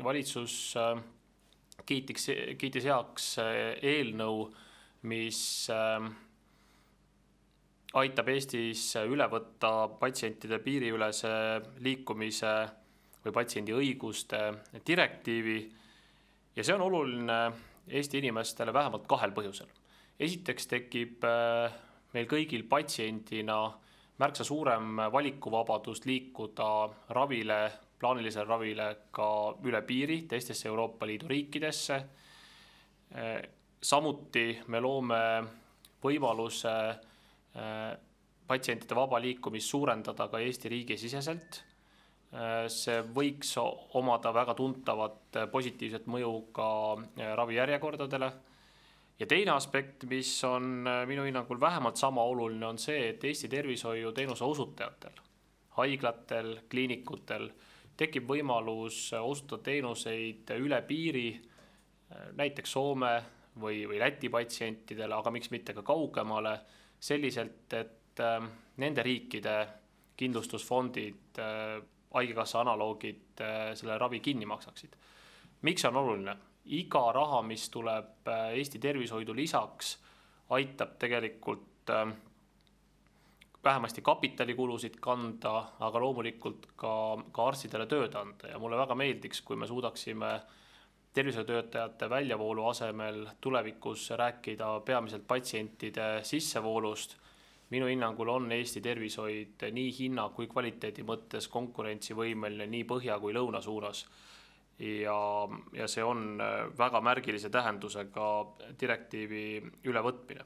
Valitsus kiitis heaks eelnõu, mis aitab Eestis üle võtta patsientide piiriülese liikumise või patsiendi õiguste direktiivi ja see on oluline Eesti inimestele vähemalt kahel põhjusel. Esiteks tekib meil kõigil patsiendina märksa suurem valikuvabadus liikuda ravile, plaanilisele ravile ka üle piiri teistesse Euroopa Liidu riikidesse. Samuti me loome võimaluse patsientide vaba liikumist suurendada ka Eesti riigi siseselt. See võiks omada väga tuntavat positiivset mõju ka ravijärjekordadele. Ja teine aspekt, mis on minu hinnangul vähemalt sama oluline, on see, et Eesti tervishoiuteenuse osutajatel, haiglatel, kliinikutel tekib võimalus osutada teenuseid üle piiri, näiteks Soome või Läti patsientidele, aga miks mitte ka kaugemale, selliselt, et nende riikide kindlustusfondid, haigekassa analoogid selle ravi kinni maksaksid. Miks on oluline? Iga raha, mis tuleb Eesti tervishoidu lisaks, aitab tegelikult vähemasti kapitalikulusid kanda, aga loomulikult ka arstidele tööd anda. Ja mulle väga meeldiks, kui me suudaksime tervishoiutöötajate väljavoolu asemel tulevikus rääkida peamiselt patsientide sissevoolust. Minu hinnangul on Eesti tervishoid nii hinna kui kvaliteedi mõttes konkurentsivõimeline nii põhja kui lõuna suunas. Ja see on väga märgilise tähendusega direktiivi ülevõtmine.